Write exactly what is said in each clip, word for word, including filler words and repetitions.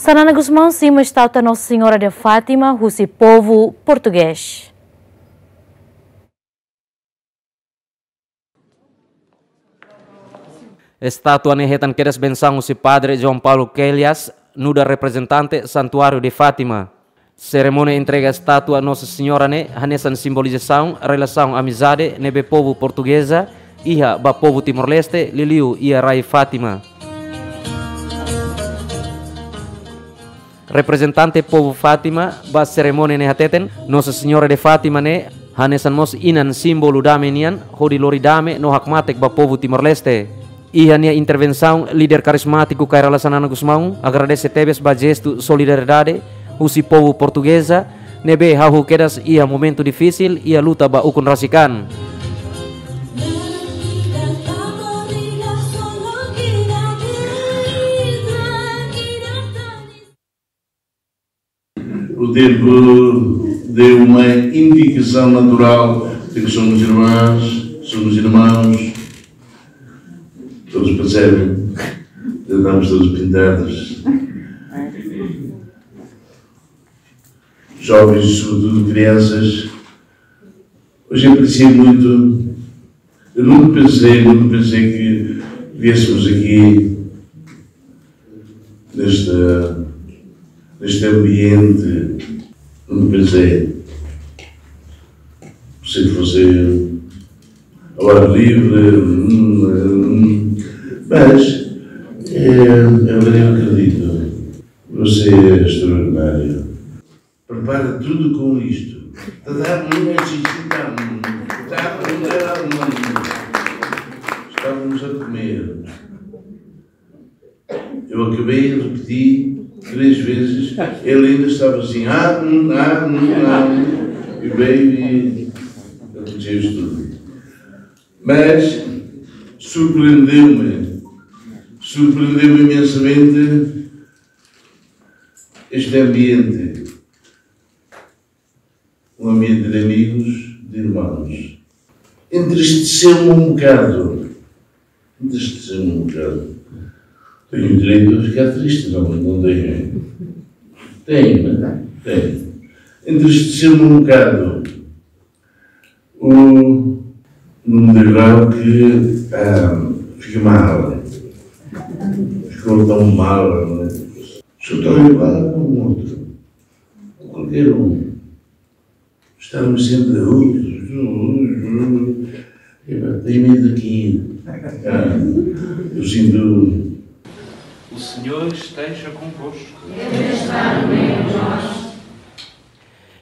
Xanana Gusmão simu estátua Nossa Senhora de Fátima husi povu portugés. Estátua ne'e hetan kedas bensaun husi Padre João Paulo Queiroz, nu'udar reprezentante Santuário de Fátima. Serimónia entrega estátua Nossa Senhora ne'e hanesan simbolizasaun relasaun amizade ne'ebé povu portugeza iha ba povu Timor-Leste, liuliu iha rai Fátima. Reprezentante povu Fátima ba serimónia ne'e hateten, Nossa Senhora de Fátima ne'e hanesan mós inan símbolu dame nian, hodi lori dame no hakmatek ba povu Timor-Leste. Iha nia intervensaun, líder karizmátiku Kay Rala Xanana Gusmão agradese tebes ba jestu solidariedade husi povu portugeza ne'ebé hahú kedas iha momentu difisil iha luta ba ukun rasik an. O tempo deu uma indicação natural de que somos irmãs, somos irmãos. Todos percebem? Já estamos todos pintados. Jovens, sobretudo crianças. Hoje aprecio muito. Eu nunca pensei, nunca pensei que viéssemos aqui neste, neste ambiente. Nunca pensei. Pensei que fosse ao ar livre, hum, hum. Mas é, é verdade, eu acredito. Você é extraordinário. Prepara tudo com isto. Tá, tá, não é xixi, tá, tá, não é, não é. Estávamos a comer. Eu acabei e repeti três vezes. Ele ainda estava assim, ah, hum, ah, hum, ah, hum. E veio e aconteceu isto tudo. Mas surpreendeu-me, surpreendeu-me imensamente este ambiente, um ambiente de amigos, de irmãos. Entristeceu-me um bocado. Entristeceu-me um bocado. Tenho direito a ficar triste, não, não tenho? Tenho, né? Tenho. Entristeceu-me um bocado o, num degrau que, ah, fica mal. Ficou tão mal, né? Sou tão igual a um outro. Qualquer um. Estarmos sempre, uh, uh, uh, uh, epá, tenho medo aqui. Ah, eu sinto. O Senhor esteja convosco.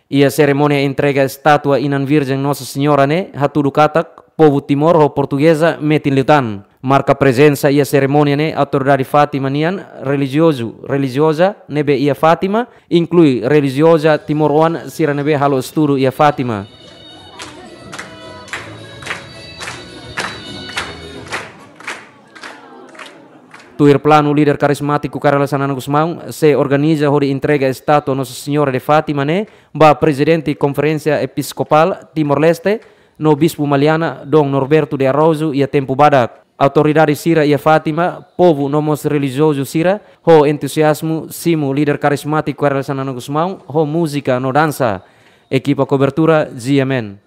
Iha serimónia entrega estátua Inan Virjen Nossa Senhora ne'e hatudu katak povu Timor ho portugeza metin liután. Marka prezensa iha serimónia ne'e autoridade Fátima nian, relijiozu, relijioza ne'ebé iha Fátima, inklui relijioza timoroan sira ne'ebé halo estudu iha Fátima. Tuir planu líder karizmátiku Kay Rala Xanana Gusmão, sei organiza hodi entrega estátua Nossa Senhora de Fátima ne'e ba Prezidente Konferénsia Episkopál Timor-Leste no Bispu Maliana, Dom Norberto de Araújo, iha tempu badak. Autoridade sira iha Fátima, povu no mós relijiozu sira ho entuziazmu simu líder karizmátiku Kay Rala Xanana Gusmão ho múzika no dansa. Ekipa kobertura, G M N.